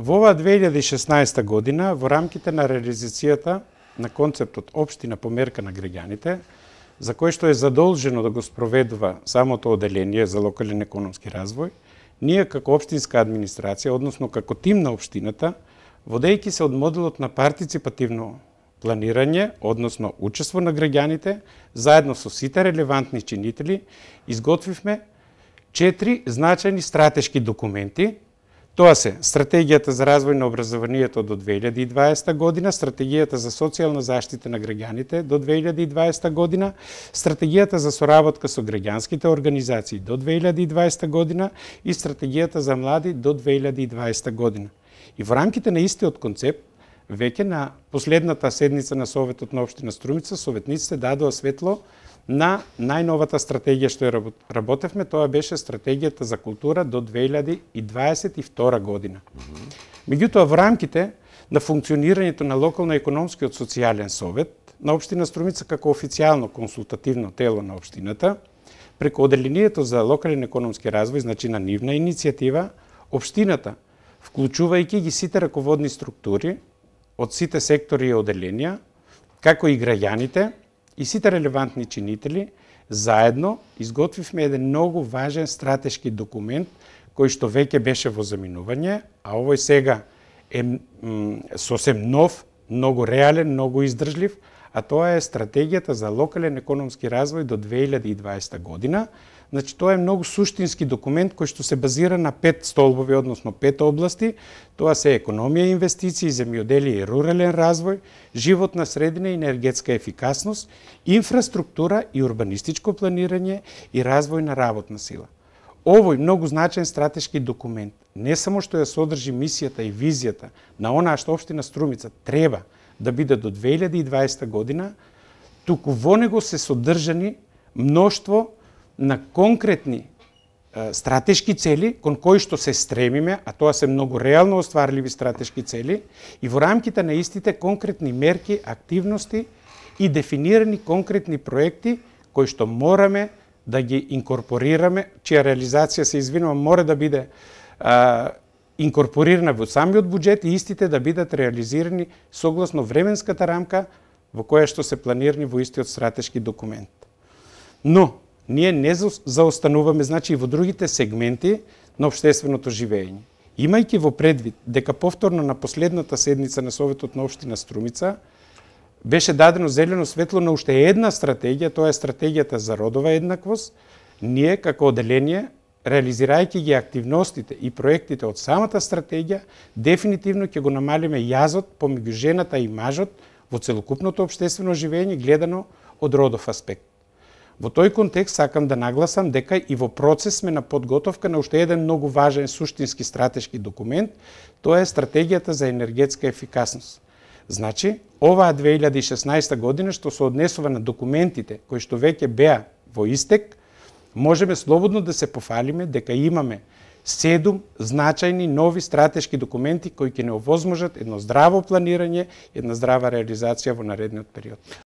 Во оваа 2016 година, во рамките на реализацијата на концептот Општина по мерка на граѓаните, за кој што е задолжено да го спроведува самото оделение за локален економски развој, ние како општинска администрација, односно како тим на општината, водејќи се од моделот на партиципативно планирање, односно учество на граѓаните, заедно со сите релевантни чинители, изготвивме 4 значајни стратешки документи. Тоа се Стратегијата за развој на образованието до 2020 година, Стратегијата за социјална заштита на граѓаните до 2020 година, Стратегијата за соработка со граѓанските организации до 2020 година и Стратегијата за млади до 2020 година. И во рамките на истиот концепт, веќе на последната седница на Советот на Општина Струмица, советниците дадоа светло на најновата стратегија што ја работевме, тоа беше Стратегијата за култура до 2022 година. Меѓутоа, во рамките на функционирањето на локално економскиот социјален совет на Општина Струмица како официјално консултативно тело на општината, преку Оделението за локален економски развој, значи на нивна иницијатива, општината, вклучувајќи ги сите раководни структури од сите сектори и оделенија, како и граѓаните, и сите релевантни чинители, заедно изготвивме еден многу важен стратешки документ, кој што веќе беше во заминување, а овој сега е сосем нов, многу реален, многу издржлив, а тоа е Стратегијата за локален економски развој до 2020 година. Значи, тоа е многу суштински документ кој што се базира на 5 столбови, односно 5 области. Тоа се економија и инвестиции, земјоделие и рурален развој, животна средина и енергетска ефикасност, инфраструктура и урбанистичко планирање и развој на работна сила. Овој многу значен стратешки документ не само што ја содржи мисијата и визијата на онаа што Општина Струмица треба да биде до 2020 година, туку во него се содржани мноштво на конкретни стратешки цели кон кои што се стремиме, а тоа се многу реално остварливи стратешки цели, и во рамките на истите конкретни мерки, активности и дефинирани конкретни проекти кои што мораме да ги инкорпорираме, чија реализација, се извинувам, мора да биде инкорпорирана во самиот буџет и истите да бидат реализирани согласно временската рамка во која што се планирани во истиот стратешки документ. Но ние не заостануваме, значи, и во другите сегменти на општественото живење. Имајќи во предвид дека повторно на последната седница на Советот на Општина Струмица беше дадено зелено светло на уште една стратегија, тоа е Стратегијата за родова еднаквост, ние како оделение, реализирајќи ги активностите и проектите од самата стратегија, дефинитивно ќе го намалиме јазот помеѓу жената и мажот во целокупното општествено живење гледано од родов аспект. Во тој контекст сакам да нагласам дека и во процес сме на подготовка на уште еден многу важен суштински стратешки документ, тоа е Стратегијата за енергетска ефикасност. Значи, оваа 2016 година што се однесува на документите кои што веќе беа во истек, можеме слободно да се пофалиме дека имаме 7 значајни нови стратешки документи кои ќе не овозможат едно здраво планирање, една здрава реализација во наредниот период.